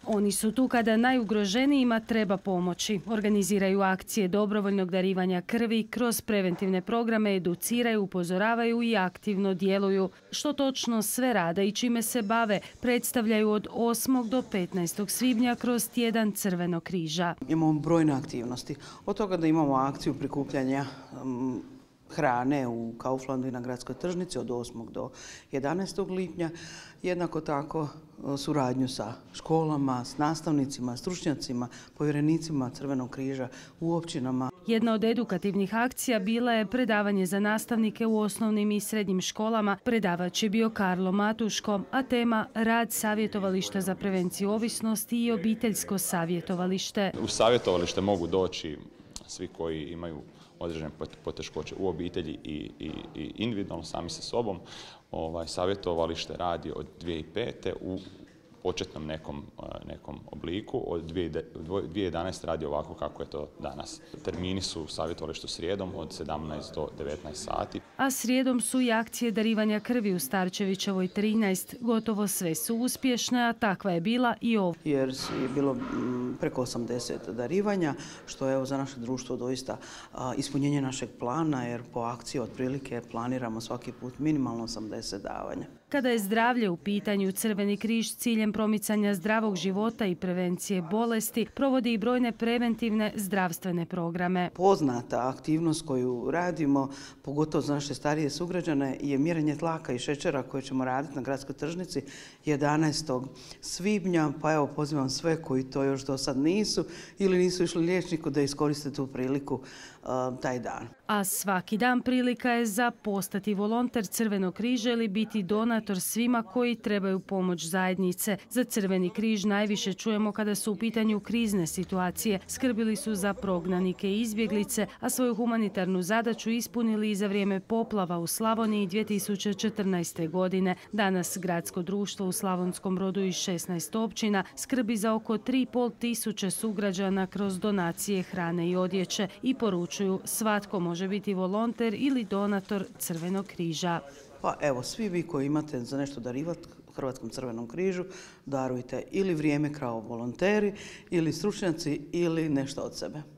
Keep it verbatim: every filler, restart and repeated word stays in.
Oni su tu kada najugroženijima treba pomoći. Organiziraju akcije dobrovoljnog darivanja krvi, kroz preventivne programe educiraju, upozoravaju i aktivno djeluju. Što točno sve rade i čime se bave, predstavljaju od osmog do petnaestog svibnja kroz tjedan Crvenog križa. Imamo brojne aktivnosti. Od toga da imamo akciju prikupljanja um, hrane u Kauflandu i na gradskoj tržnici od osmog do jedanaestog lipnja. Jednako tako suradnju sa školama, s nastavnicima, stručnjacima, povjerenicima Crvenog križa u općinama. Jedna od edukativnih akcija bila je predavanje za nastavnike u osnovnim i srednjim školama. Predavač je bio Karlo Matuško, a tema rad savjetovališta za prevenciju ovisnosti i obiteljsko savjetovalište. U savjetovalište mogu doći svi koji imaju određene poteškoće u obitelji i, i, i individualno sami sa sobom. Ovaj, savjetovalište radi od dvije tisuće pete. u početnom nekom, nekom obliku. Od dvije tisuće jedanaeste. radi ovako kako je to danas. Termini su u savjetovalištu srijedom od sedamnaest do devetnaest sati. A srijedom su i akcije darivanja krvi u Starčevićevoj trinaest. Gotovo sve su uspješne, a takva je bila i ovo. Jer je bilo preko osamdeset darivanja, što je za naše društvo doista ispunjenje našeg plana, jer po akciji otprilike planiramo svaki put minimalno osamdeset davanja. Kada je zdravlje u pitanju, Crveni križ s ciljem promicanja zdravog života i prevencije bolesti provodi i brojne preventivne zdravstvene programe. Poznata aktivnost koju radimo, pogotovo za naše starije sugrađane, je mjerenje tlaka i šećera koje ćemo raditi na gradskoj tržnici jedanaestog svibnja. Pa evo, pozivam sve koji to još do sad nisu ili nisu išli liječniku da iskoriste tu priliku uh, taj dan. A svaki dan prilika je za postati volonter Crvenog križa ili biti donator svima koji trebaju pomoć zajednice. Za Crveni križ najviše čujemo kada su u pitanju krizne situacije. Skrbili su za prognanike i izbjeglice, a svoju humanitarnu zadaću ispunili i za vrijeme poplava u Slavoniji dvije tisuće četrnaeste. godine. Danas gradsko društvo u Slavonskom Brodu i šesnaest općina skrbi za oko tri i pol tisuće sugrađana kroz donacije hrane i odjeće i poručuju svatko može biti volonter ili donator Crvenog križa. Pa evo, svi vi koji imate za nešto darivati Hrvatskom Crvenom križu, darujte ili vrijeme kao volonteri, ili stručnjaci, ili nešto od sebe.